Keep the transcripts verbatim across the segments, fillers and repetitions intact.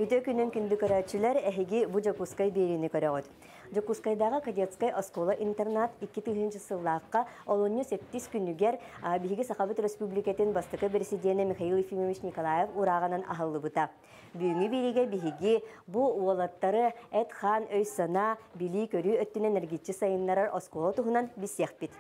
Үтө күнүн күндү көрөөччүлэр, эһиги бу Дьокуускай биэриини көрөҕүт. Дьокуускайдааҕы кадетскай оскуола-интернат икки тыһыынча сыллаахха олунньу сэттис күнүгэр биһиги Сахабыт Республикатын бастакы президенэ Михаил Ефимович Николаев урааҕынан аһыллыбыта. Бүгүҥҥү биэриигэ биһиги бу уолаттары эт-хаан өй-санаа, билии-көрүү өттүнэн эргиччи сайыннарар оскуола туһунан билсиэхпит.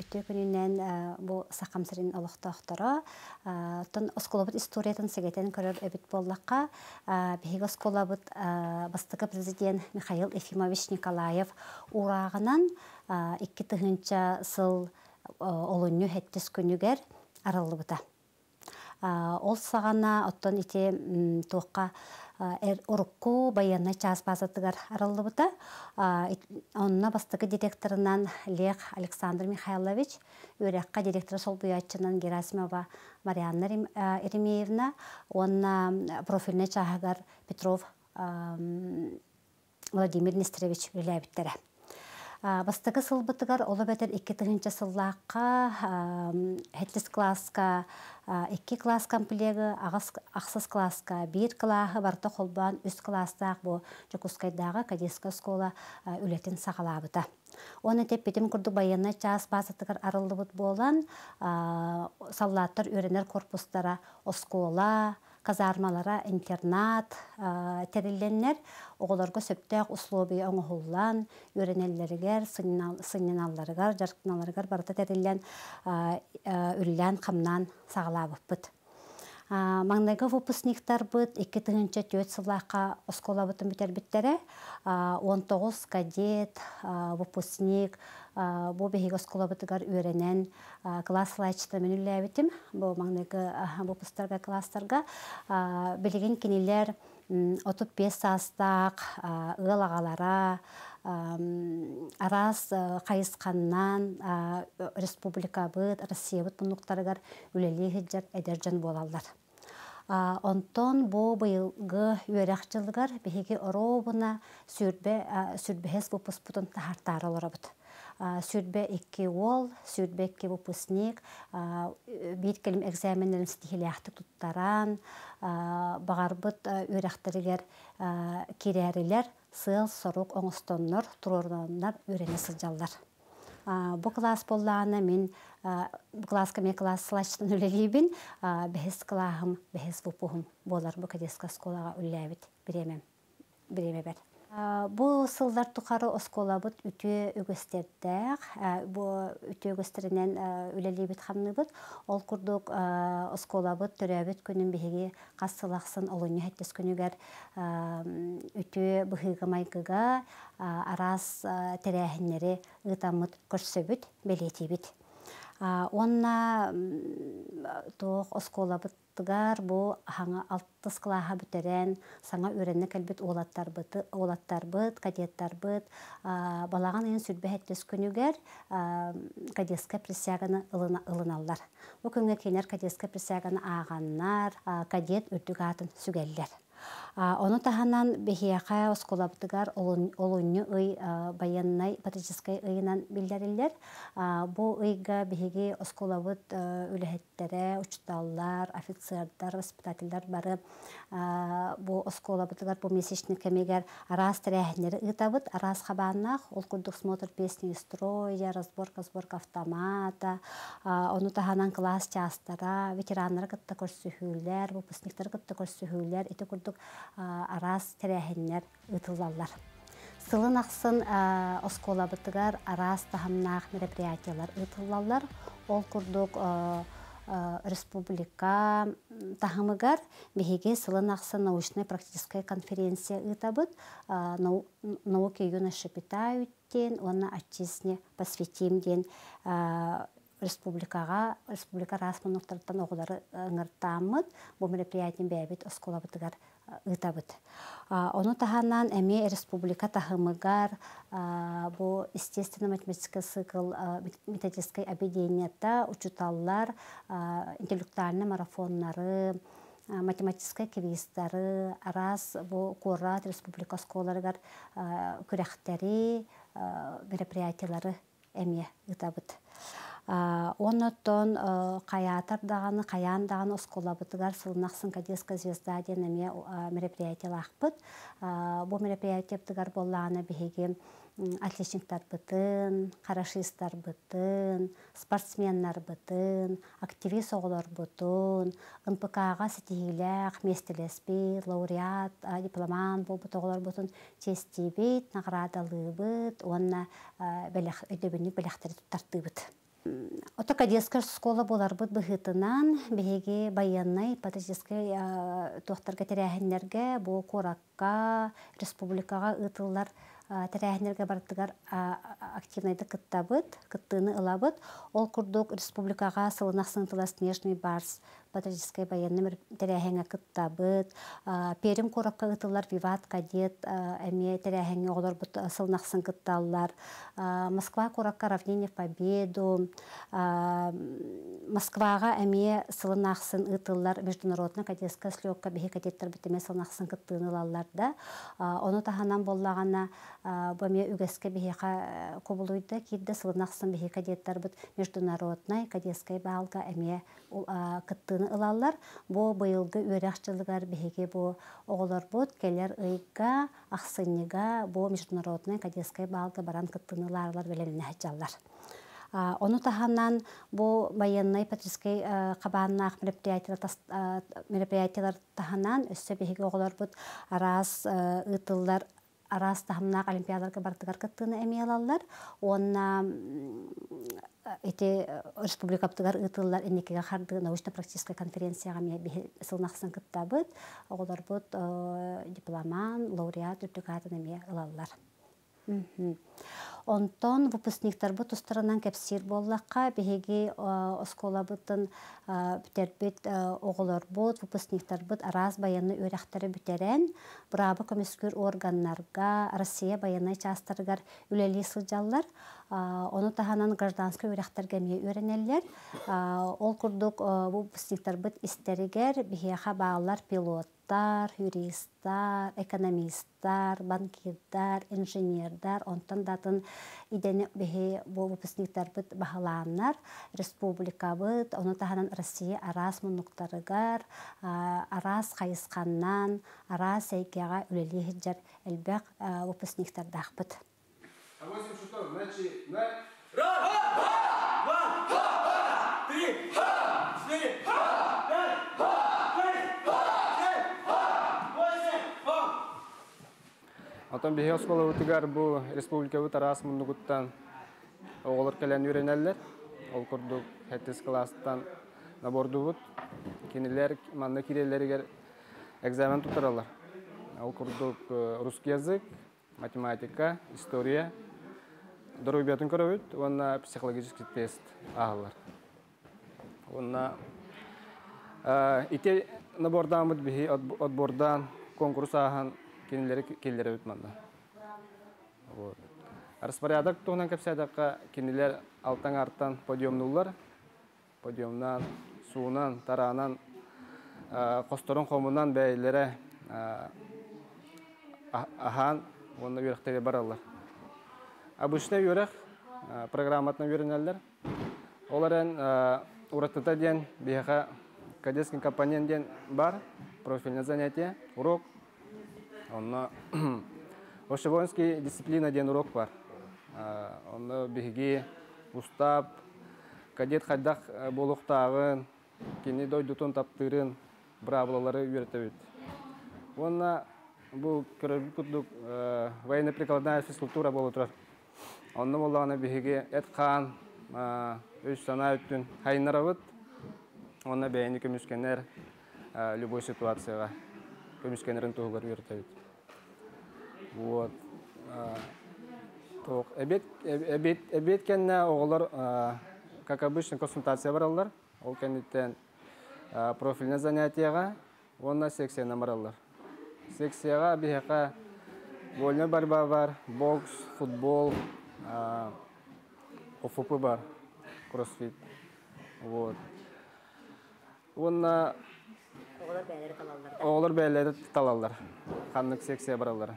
Үтүө күнүнэн бу Сахам сирин олохтоохторо. Оттон оскуолабыт историятын сэгэтэн көрөр эбит буоллахха, биһиги оскуолабыт бастакы президент Михаил Ефимович Николаев уурааҕынан икки тыһыынча сыл олунньу сэттис күнүгэр арыллыбыта. Ол саҕана оттон ити туохха урукку байыаннай чаас базатыгар арыллыбыта. Онно бастакы директорынан Лех Александр Михайлович, үөрэххэ директора солбуйааччынан Герасимова Марианна Еремеевна, уонна профильнай чааһыгар Петров Владимир Нестерович үлэлээбиттэрэ. Бастакы сылбытыгар оло бэтэр икки тыһыынча сыллаахха сэттис класска икки класс комплегы, ахсыс класска биир классы барыта холбоон үс класстаах бу Дьокуускайдааҕы кадетскай оскуола үлэтин саҕалаабыта. Оны тэппитим курдук байыаннай чаас базатыгар арыллыбыт буолан, саллааттар үөрэнэр корпустара оскуола, казармалара интернат тэрилленнэр, оҕолорго сөптөөх условия оҥоһуллан, үөрэнэллэригэр, сынньаналларыгар, дьарыктаналларыгар барыта тэриллэн, үллээн, хамнаан саҕалаабыппыт. Маҥнайгы выпускниктарбыт икки тыһыынча түөрт сыллаахха оскуолабытын бүтэрбиттэрэ. Он тоҕус кадет, выпускник бу биһиги оскуолабытыгар үөрэнэн класс салайааччытынан мин үлэлээбитим. Бу маҥнайгы выпусктарга, класстарга. Билигин кинилэр отут биэс саастаах ыал аҕалара, араас хайысханнан республикабыт, Россиябыт муннуктарыгар үлэлии сылдьар эдэр дьон буолаллар. Онтон бу быйылгы үөрэх дьылыгар биһиги оруобуна сүүрбэ сүүрбэһэс выпускпутун таһаартаары олоробут. Сүүрбэ икки уол, сүүрбэ икки выпускник биир кэлим экзаменнэрин ситиһилээхтик туттаран, баҕарбыт үөрэхтэригэр киирээрилэр сыал-сорук оҥостоннор, туруорунаннар үөрэнэ сылдьаллар. Бу класс буоллаҕына мин бу класска мен класс салайааччытынан үлэлиибин, бэһис клаһым, бэһис выпуһум буолар бу кадетскай оскуолаҕа үлэлээбит бириэмэм, бириэмэбэр. Бу сыллар тухары оскуолабыт үтүө үгэстердээх, бу үтүө үгэстэринэн үлэлиибит хамныыбыт. Ол курдук оскуолабыт төрөөбүт күнүн биһиги хас сыл ахсын олунньу сэттис күнүгэр үтүө быһыыга майгыга араас тэрээһиннэри ыытаммыт көрсөбүт, бэлиэтиибит. Уонна туох оскуолабытыгар бу хаҥа алтыс клаһа бүтэрэн саҥа үөрэнэ кэлбит уолаттарбыт, уолаттарбыт, кадеттарбыт балаҕан ыйын сүүрбэ сэттис күнүгэр кадетскай присяганы ылыналлар. Бу күҥҥэ кинилэр кадетскай присяганы ааҕаннар, кадет үрдүк аатын сүгэллэр. Ону таһынан биһиэхэ оскуолабытыгар олунньу ый байыаннай патриотическай ыйынан биллэриллэр. Бу ыйга биһиги оскуолабыт үлэһиттэрэ, учууталлар, офицердар, воспитателлэр бары бу оскуолабытыгар бу месячный кэмигэр араас тэрээһиннэри ыытабыт, араас хабааннаах, ол курдук смотр песни строя, разборка, сборка автомата, ону таһынан кылаас чаастара, ветераннары кытта көрсүһүүлэр, выпускниктары кытта көрсүһүүлэр, ити курдук араас тэрээһиннэр ыытыллаллар. Сылын ахсын оскуолабытыгар араас таһымнаах мероприятиялар ыытыллаллар. Ол курдук республика таһымыгар биһиги сылын ахсын научнай-практическай конференция ыытабыт. «Науки юноши питают» диэн уонна «Отчизне посвятим» диэн республикаҕа республика араас муннуктарыттан оҕолору ыҥыртааммыт бу мероприятиен бэйэбит оскуолабытыгар ыытабыт. Ону таһынан эмиэ республика таһымыгар бу естественно-математический цикл методическай объединенията учууталлар интеллектуальный марафоннары, математическай квизтары, араас бу куорат, республика оскуолаларыгар күрэхтэри, мероприятиялары эмиэ ыытабыт. Онноттон хайаатар даҕаны, хайаан даҕаны оскуолабытыгар сылын ахсын «Кадетская звезда» диэн эмиэ мероприятиялаахпыт. Бу мероприятиябытыгар буоллаҕына биһиги отличниктарбытын, хорошисттарбытын, спортсменнарбытын, активист оҕолорбутун, Н П Кга ситиһиилээх миэстэлэспит, лауреат, дипломант буолбут оҕолорбутун чиэстиибит, наҕараадалыыбыт уонна бэлэх, өйдөбүнньүк бэлэхтэри туттартыыбыт. Ото кадетскай школа буоларбыт быһыытынан биһиги байыаннай патриотическай туохтарга, тэрээһиннэргэ, бу куоракка, республикаҕа ыытыллар тэрээһиннэргэ барытыгар активнайдык кыттабыт, кыттыыны ылабыт. Ол курдук республикаҕа сылын ахсын ыытыллар «Снежный барс» патриотическай байыаннай тэрээһиҥҥэ кыттабыт. Пермь куоракка ыытыллар «Виват кадет» эмиэ тэрээһиҥҥэ оҕолорбут сылын ахсын кытталлар. Москва куоракка «Равнение в победу», Москваҕа эмиэ сылын ахсын ыытыллар международный кадетская слетка биһи кадеттарбыт эмиэ сылын ахсын кыттыыны ылаллар да. Ону таһынан буоллаҕына бу эмиэ үгэскэ биһиэхэ кубулуйда киирдэ, сылын ахсын биһи кадеттарбыт международный кадетскай баалга эмиэ кыттыыны ылаллар. Бу быйылгы үөрэх дьылыгар биһиги бу оҕолорбут кэлэр ыйга, ахсынньыга бу международный кадетскай баалга баран кыттыыны ылаарылар бэлэмнэнэ сылдьаллар. Ону таһынан бу байыаннай патриотическай хабааннаах мероприятиялар таһынан өссө биһиги оҕолорбут араас ыытыллар араас таһымнаах олимпиадаларга барытыгар кыттыыны эмиэ ылаллар. Уонна ити республикабытыгар ыытыллар «Инникигэ хардыы» научно-практическай конференцияҕа эмиэ биһи сылын ахсын кыттабыт. Оҕолорбут дипломант, лауреат үрдүк аатын эмиэ ылаллар. Онтон выпускниктарбыт тустарынан кэпсиир буоллахха, биһиги оскуолабытын бүтэрбит оҕолорбут, выпускниктарбыт араас байыаннай үөрэхтэри бүтэрэн, быраабы көмүскүүр органнарга, Россия байыаннай чаастарыгар үлэлии сылдьаллар. Ону таһынан гражданскай үөрэхтэргэ эмиэ үөрэнэллэр. Ол курдук бу выпускниктарбыт истэригэр биһиэхэ бааллар пилоттар, юристар, экономисттар, банкирдар, инженердар, онтон да атын идэни биһи бу выпускниктарбыт баһылааннар, республикабыт, ону таһынан Россия араас муннуктарыгар, араас хайысханнан, араас эйгэҕэ үлэлии сылдьар элбэх выпускниктардаахпыт. Восемь шутов, начинай. Раз, два, три, четыре, пять, шесть, семь, восемь. Онтон биһиги оскуолабытыгар бу республикабыт араас муннугуттан оҕолор кэлэн үөрэнэллэр. Ол курдук сэттис кылаастан набордуубут. Кинилэр манна киирэллэригэр экзамен туттараллар. Ол курдук русский язык, математика, история, доруобуйатын көрөбүт уонна психологический тест ааһаллар. Уонна ити набордааммыт биһи отбордаан конкурс ааһан кинилэри киллэрэбит манна. Вот. Распорядок туһунан кэпсээтэххэ, кинилэр алтан артан подъемнуллар. Подъемнан, суунан, тараанан, хосторун хомунан бэйэлэрэ Аһаан, уонна үөрэхтэрэ бараллар. Обычный үөрэх программатынан үөрэнэллэр. Ол эрэн уратыта диэн биһиэхэ кадетский компонент диэн бар, профильное занятие, урок. Онно общевоинский дисциплина диэн урок бар. Онно биһиги устав, кадет хайдах буолуохтааҕын, кини дойдутун таптыырын, быраабылалары үөрэтэбит. Уонна бу көрөрбүт курдук военно-прикладная физкультура буола турар. Онно буоллаҕына биһиги эт-хаан, өй-санаа өттүн хайыннарабыт. Онно бэйэни көмүскэнэр любой ситуацияҕа көмүскэнэрин туһугар үөрэтэбит. Вот. Тоқ, эбиэт, эбиэт, эбиэт кэннэ оҕолор, как обычно, консультация бараллар. Ол кэнниттэн профильное занятияҕа уонна секцияны бараллар. Секцияҕа биһиэхэ вольная борьба бар, бокс, футбол, О Ф П бар, кроссфит. Вот. Уонна оҕолор бэйэлэрэ талаллар. Оҕолор бэйэлэрэ талаллар. Ханнык секция бараллар.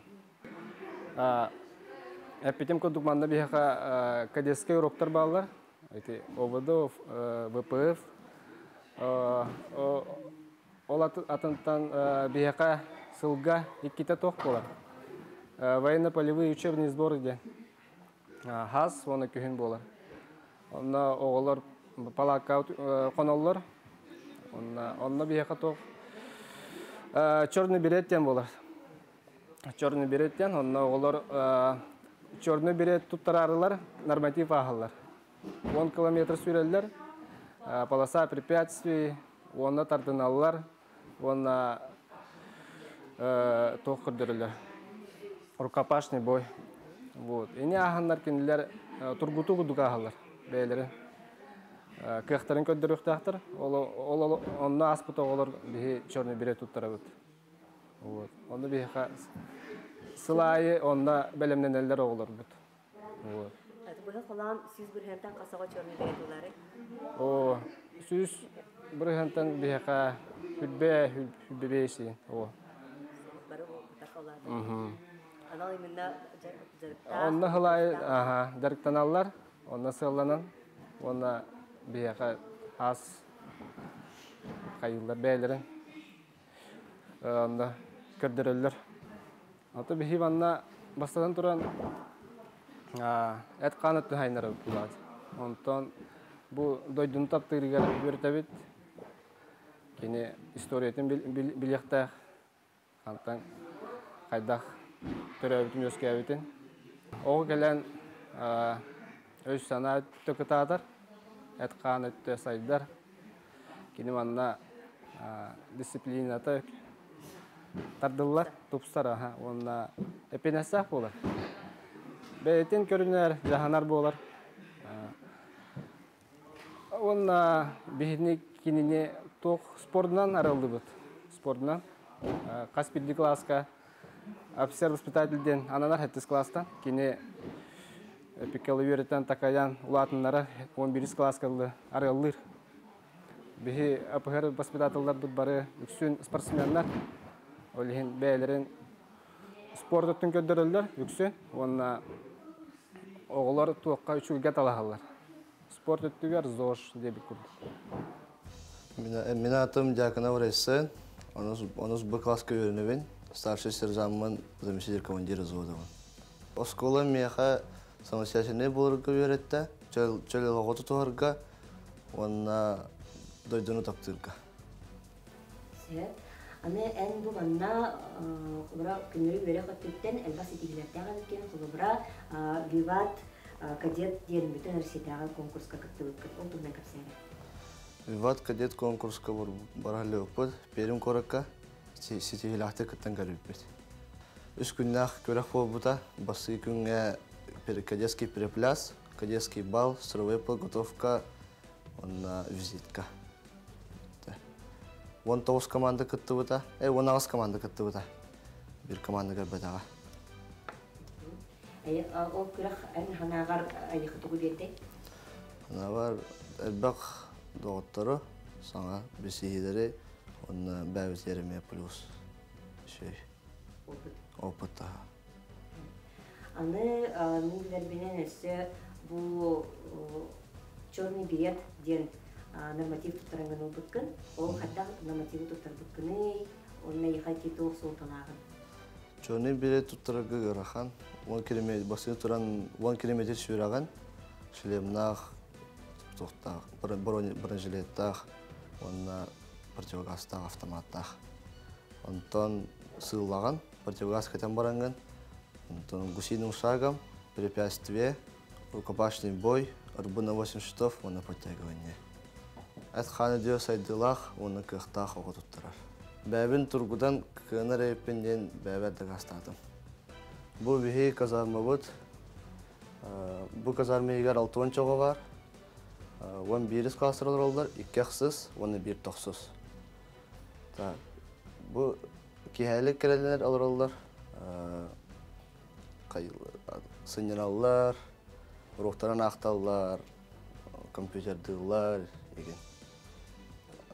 Эппитим курдук манна биһиэхэ кадетскай уроктар бааллар. Эти О В Д, В П Ф. Ол атынтан биһиэхэ сылга иккитэ туох буолар. Военно-полевые учебные сборы диэн. Хас уонна күһүн буолар. Онно оҕолор палатка хоноллор. Онно, онно биһиэхэ туох черный берет диэн буолар. Черный берет диэн, онно оҕолор черный берет туттарарылар, норматив ааһаллар. Он километр сүүрэллэр, полоса препятствий, онно тардыналлар, онно туох көрдөрөллөр. Рукопашный бой. Вот. Ини ааһаннар кинилэр тургутуу курдук ааһаллар бэйэлэрин. Кыахтарын көрдөрүөхтээхтэр. Ол онно ааспыт оҕолор биһи черный берет туттарабыт. Вот. Онно биһиэхэ сыл аайы онно бэлэмнэнэллэр оҕолорбут. Вот. Быһа холоон сүүс бырыһыантан хас оҕо черный берет ыларый? О, сүүс бырыһыантан биһиэхэ сүүрбэ, сүүрбэ биэс. О. Бары бутах Анал именно дьарыктаах. Онно сыл аайы, аха, дьарыктаналлар, онно сыалланан, уонна биһиэхэ хас хайыллар бэйэлэрин онно көрдөрөллөр. Ото биһи манна бастатан туран эт хаан өттүн хайыннарабыт булаат. Онтон бу дойдуну таптыырыгар үөрэтэбит. Кини историятын билиэхтээх. Хантан хайдах төрөөбүтүн үөскээбитин. Оҕо кэлэн өй санаа өттө кытаатар, эт хаан өттө сайдар. Кини манна дисциплината тардыллар, тупсар, аха, уонна эппиэтинэстээх буолар. Бэйэтин көрүнэр, дьаһанар буолар. Уонна биһини кинини туох спордунан арыллыбыт. Спордунан. Хас биирдии кылааска офицер воспитатель диэн ананар сэттис кылаастан. Кини пиккалы үөрэтэн такайан улаатыннара он бирис кылааска арыаллыыр. Биһи А П Х Р воспитателларбыт бары үксүн спортсменнар. Ол иһин бэйэлэрин спорт өттүн көрдөрөллөр үксүн. Уонна оҕолор туохха үчүгэйгэ талаһаллар. Спорт өттүгэр ЗОЖ диэбит курдук. Мин аатым Дьяконов Райсен, онус Б класска үөрэнэбин, старший сержантмын, заместитель командира взводабын. Оскуола миэхэ самостоятельный буоларга үөрэттэ, чөл олоҕу тутуһарга уонна дойдуну таптыырга. Сөп. Аны эн бу манна холобура күннөрү үөрэх өттүттэн элбэх ситиһиилэрдээх эбиккин, холобура Виват кадет диэн бүтүн Россиятааҕы конкурска кыттыбыккыт. Ол туһунан кэпсээн. Виват кадет конкурска бараллыбыппыт, Пермь куоракка ситиһиилээхтик кыттан кэлбиппит. Үс күннээх күрэх буолбута, бастакы күҥҥэ кадетский перепляс, кадетский бал, строевая подготовка, уонна визитка. Уон тоҕус команда кыттыбыта, э, уон аҕыс команда кыттыбыта. Биир команда кэлбэтэҕэ. Ол күрэх эн санааҕар эйиэхэ тугу биэрдэй? Санаабар элбэх доҕоттору, саҥа билсиһиилэри, уонна бэйэбит эмиэ плюс. Шей. Опыт. Опыт та. Аны мин билэрбинэн өссө бу черный берет диэн норматив туттарангын ылбыккын. Ол хайдах нормативы туттарбыккыный, онно эйиэхэ туох суолталааҕын? Черный берет туттарарга ыарахан. Он километр басын туран он километр сүүраган шлемнаах, туохтаах, бронежилеттаах, уонна противогазтаах, автоматтаах. Онтон сыыллаган, противогаз кэтэн барангын, онтон гусиным шагом, препятствие, рукопашный бой, рбу на восемь шестов, уонна подтягивание. Эт хаана дио сайдыылаах уонна кыахтаах оҕо туттарар. Бэйэбин тургутан кыанар эбиппин диэн бэйэбэр дакаастаатым. Бу биһи казармабыт, бу казарма иһигэр алта уон чоҕо баар, уон биирис класстар олороллор, икки ахсыс уонна биир тохсус. Так, бу киһээлик кэлэллэр олороллор, сынньаналлар, уруоктарын аахталлар, компьютердыыллар игин.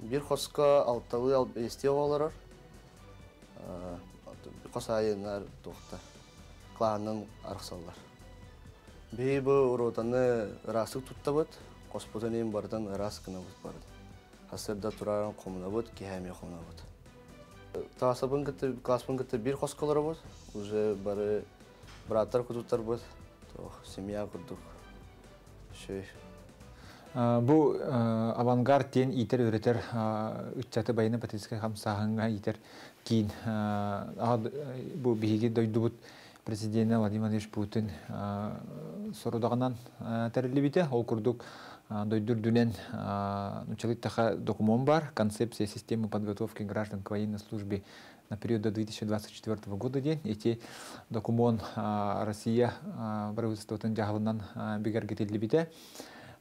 Биир хоско алталыы биэстии оҕо олорор. Хос аайыннар туохтар, клаанын арахсаллар. Биһи бу уротаны ыраастык туттабыт, хоспутун иин барытын ыраас гынабыт барыт. Хасырда турарын хомунабыт, киһэми хомунабыт. Таасабын кытта, класспын кытта биир хоско олоробут, уже бары бырааттар кутуттарбыт, семья курдук. Шөй. Бу авангард диэн иитэр үөрэтэр ыччаты байыаннай патриотическай хамсааһыҥҥа иитэр киин бу биһиги дойдубут президенэ Владимир Владимирович Путин сорудаҕынан тэриллибитэ. Ол курдук дойду үрдүнэн нууччалыы документ бар «Концепция системы подготовки граждан к военной службе на период до две тысячи двадцать четвертого года» диэн. Ити документ Россия правительствотын дьаһалынан бигэргэтиллибитэ.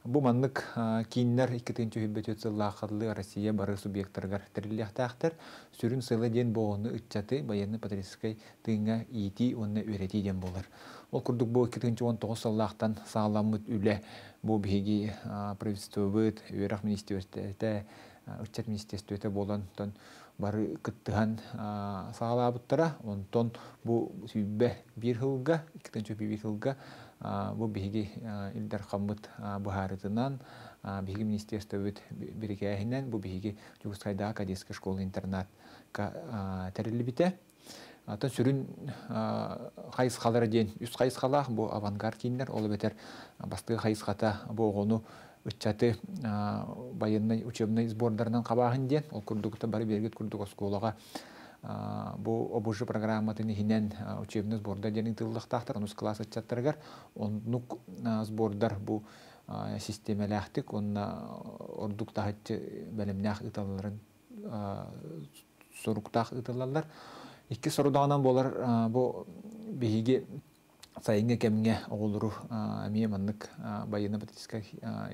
Бу маннык кииннэр икки тыһыынча сүүрбэ сыллааххалыы Россия бары субъекттарыгар тэриллиэхтээхтэр. Сүрүн сыала диэн оҕону ыччаты байыаннай патриотическай тыыҥҥа иитии уонна үөрэтии диэн буолар. Ол курдук бу икки тыһыынча он тоҕус сыллаахтан саҕаламмыт үлэ бу биһиги правительствобыт, үөрэх министерствота, ыччат министерствота буолан тон бары кыттыһан саҕалаабыттара. Онтон бу сүүрбэ биир сылга, икки тыһыынча биир сылга бу биһиги Ил Дархаммыт быһаарытынан, биһиги министерствобыт бирикээһинэн бу биһиги Дьокуускайдааҕы кадетскай школа интернатка тэриллибитэ. Атын сүрүн хайысхалара диэн үс хайысхалаах бу авангард кииннэр, ол эбэтэр бастакы хайысхата бу оҕону ыччаты военный учебный сбордарынан хабааһын диэн, ол курдук бары билэргит курдук оскуолаҕа бу О Б Ж программатын иһинэн учебный сбордар диэн ыытыллыахтаахтар онус класс ыччаттарыгар. Оннук сбордар бу систиэмэлээхтик уонна ордук таһыччы бэлэмнээх ыыталларын соруктаах ыытыллаллар. Икки сорудаҕынан буолар бу биһиги сайыҥҥы кэмҥэ оҕолору эмиэ маннык байыаннай патриотическай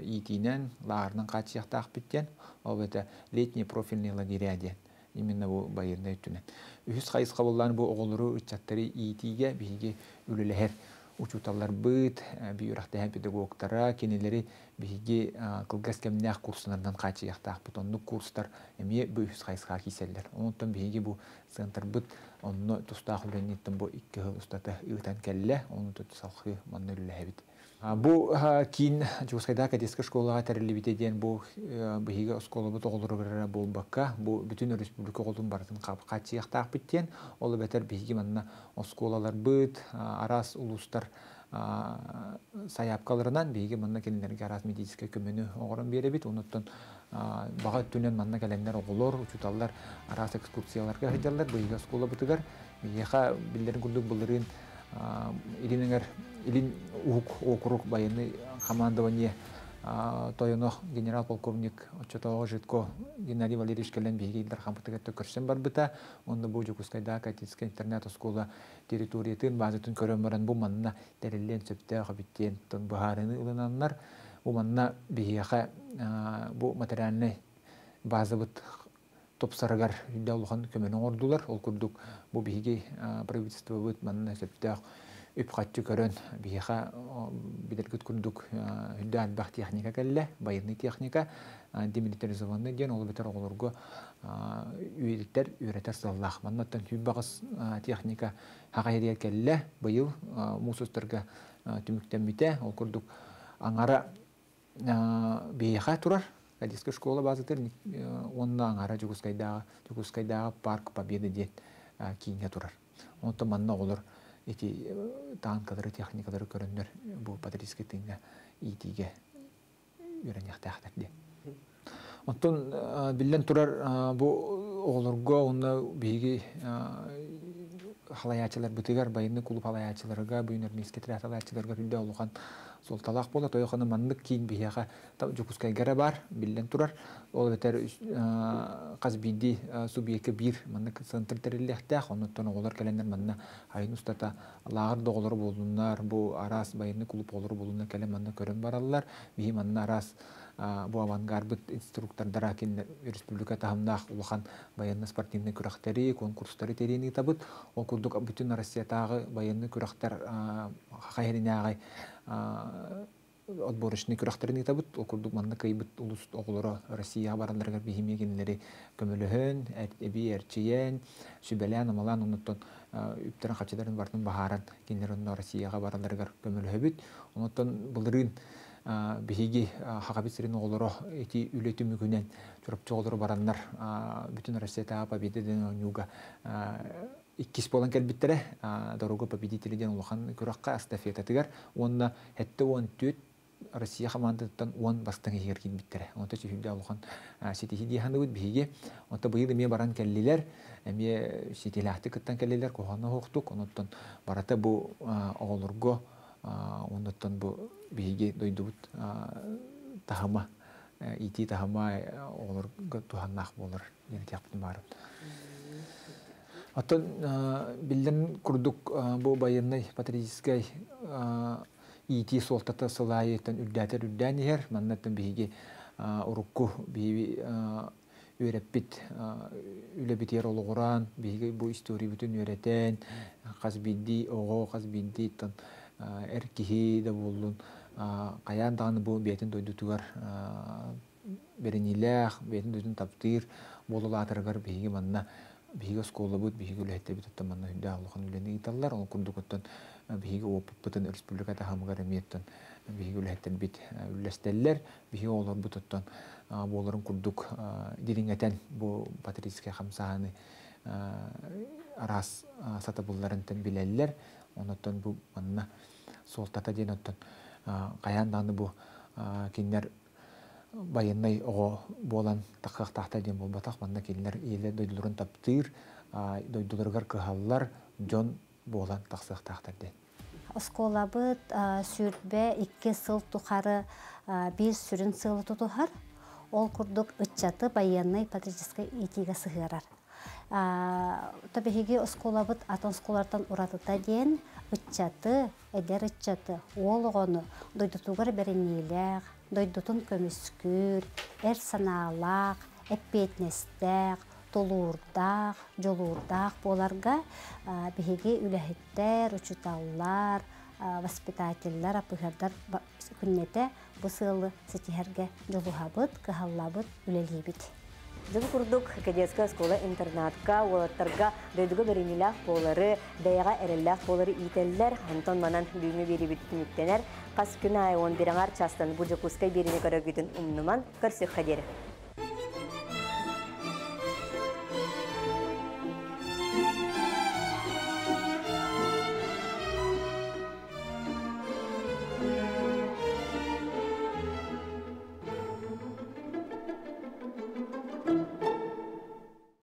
иитиинэн, лааҕырынан хааччыйыахтаахпыт диэн, ол это летние профильные лагеря диэн именно бу байыаннай өттүнэн. Үһүс хайысха буоллаан бу оҕолору ыччаттары иитиигэ биһиги үлэлэһэр учууталларбыт, үөрэхтээһин педагогтара, кинилэри биһиги кылгас кэмнээх курсунарынан хааччыйыахтаахпыт. Оннук курстар эмиэ бу үһүс хайысхаҕа киирсэллэр. Онтон биһиги бу центрбыт онно тустаах үлэниттэн бу икки сыл устата ыытан кэллэ, ону салгыы манна үлэлэһэбит. Бу киин Дьокуускайдааҕы кадетскай школаҕа тэриллибитэ диэн бу биһиги оскуолабыт оҕолоругар буолбакка, бу бүтүн республика оҕолорун барытын хааччыйыахтаахпыт диэн, ол эбэтэр биһиги манна оскуолаларбыт, араас улуустар сайаапкаларынан биһиги манна кинилэргэ араас медицинскэй көмөнү оҥорон биэрэбит. Онуттан баҕа өттүнэн манна кэлэннэр оҕолор, учууталлар араас экскурсияларга сылдьаллар биһиги оскуолабытыгар. Биһиэхэ биллэрин курдук былырыын Илин Илин Уһук округ военный командование тойоно генерал-полковник оччотооҕу Житко Геннадий Валерьевич кэлэн биһиги Ил Дархаммытыгар көрсөн барбыта. Онно бу Дьокуускайдааҕы кадетскай интернат оскуола территориятын, базатын көрөн баран бу манна тэриллиэн сөптөөх эбит диэн быһаарыыны ылынаннар, бу манна биһиэхэ бу материальнай базабыт тупсарыгар улахан көмөнү оҥордулар. Ол курдук бу биһиги правительствобыт манна сөптөөх үп-харчы көрөн биһиэхэ билэргит курдук үрдэ элбэх техника кэллэ, байыаннай техника, демилитаризованный диэн ол бэтэр оҕолорго үөрэтэр үөрэтэр сыаллаах. Маннаттан сүүс техника хаҕа кэллэ, быйыл муус устарга түмүктэммитэ, ол курдук аҥара биһиэхэ турар кадетская школа базатыр уонна аҥара Дьокуускайдааҕы Дьокуускайдааҕы парк Победы диэн кииҥҥэ турар. Онтон манна оҕолор эти танкалары, техникалары көрөннөр бу патриотическай тыыҥҥа иитиигэ үөрэниэхтээхтэр диэн. Онтон биллэн турар бу оҕолорго уонна биһиги халайааччыларбытыгар, байыаннай клуб халайааччыларга, юнармейский отряд халайааччыларга үрдэ улахан суолталаах буола. Тойохоно маннык киин биһиэхэ Дьокуускайга эрэ баар, биллэн турар. Ол эбэтэр хас биирдии субъекка биир маннык центр тэриллиэхтээх. Оннуттан оҕолор кэлэннэр манна айын устата лааҕыр да оҕолоро буоллуннар, бу араас байыаннай клуб оҕолоро буоллуннар кэлэн манна көрөн бараллар. Биһи манна араас бу авангарбыт инструктордара кинилэр республика таһымнаах улахан байыаннай спортивнай күрэхтэри, конкурстары тэрийэн ыытабыт. Ол курдук бүтүн Россиятааҕы байыаннай күрэхтэр хайыринааҕы отборочный күрэхтэрин ыытабыт. Ол курдук манна кыайбыт улус оҕолоро Россияҕа баралларыгар биһимиэ кинилэри көмөлөһөн, эби эрчийэн, сүбэлээн, амалаан, оннуттан үптэрин хаччыларын бартын баһааран кинилэр онно Россияҕа баралларыгар көмөлөһөбүт. Оннуттан былырыын биһиги хахабит сирин оҕолоро ити үлэ түмүгүнэн Чурапчы оҕолоро бараннар бүтүн Россиятааҕы Победа диэн оонньууга иккис буолан кэлбиттэрэ. Дорога победители диэн улахан күрэххэ эстафетатыгар уонна сэттэ уон түөрт Россия командатыттан уон бастыҥ иһигэр киирбиттэрэ. Онто сүһүрдэ улахан ситиһии дии саныыбыт биһиги. Онто быйыл эмиэ баран кэллилэр, эмиэ ситиилээхтик кыттан кэллилэр, куһаҕана суохтук. Онуттан барыта бу оҕолорго, оннуттан бу биһиги дойдубут таһыма, иитии таһыма оҕолорго туһаннаах буолар диэн этиэхпитин баарбыт. Оттон биллэн курдук бу байыаннай патриотическай иитии суолтата сыл аайыттан үрдээтэр үрдээн иһэр. Маннаттан биһиги урукку биһиги үөрэппит үлэбитигэр олоҕураан, биһиги бу историябытын үөрэтэн, хас биирдии оҕо, хас биирдии эр киһи да буоллун, хайаан даҕаны бу бэйэтин дойдутугар бэриниилээх, бэйэтин дойдутун таптыыр буолулаатарыгар биһиги манна биһиги оскуолабыт, биһиги үлэһиттэбит оттон манна үрдээх улахан үлэни ыыталлар. Ол курдук оттон биһиги опыппытын республика таһымыгар эмиэ оттон биһиги үлэһиттэрбит үллэстэллэр. Биһиги оҕолорбут оттон буоларын курдук дириҥэтэн бу патриотическай хамсааһыны араас сатабылларынтан билэллэр. Оннуттан бу манна суолтата диэн оттон хайаан даҕаны бу кинилэр байыаннай оҕо буолан таххахтаахтар диэн буолбатах. Манна кинилэр иэлэ дойдуларын таптыыр, дойдуларыгар кыһаллар дьон буолан тахсыахтаахтар диэн. Оскуолабыт сүүрбэ икки сыл тухары биир сүрүн сыалы тутуһар. Ол курдук ыччаты байыаннай патриотическай иитиигэ сыһыарар. Биһиги оскуолабыт атын оскуолартан уратыта диэн ыччаты, эдэр ыччаты, уол оҕону дойдутугар бэриниилээх, дойдутун көмүскүүр, эр санаалаах, эппиэтинэстээх, тулуурдаах, дьулуурдаах буоларга биһиги үлэһиттэр, учуталлар, воспитателлэр, апыһардар күннэтэ бу сыалы ситиһэргэ дьулуһабыт, кыһаллабыт, үлэлиибит. Дьыл курдук кадетская школа интернатка, уолаттарга дойдуга бэринилээх буолары, бэйэҕэ эрэллээх буолары иитэллэр. Онтон манан бүгүҥҥү биэрибит түмүктэнэр. Хас күн аайы он биир аҥаар чаастан бу Дьокуускай биэриини көрөргүтүн умнуман көрсүөххэ диэри.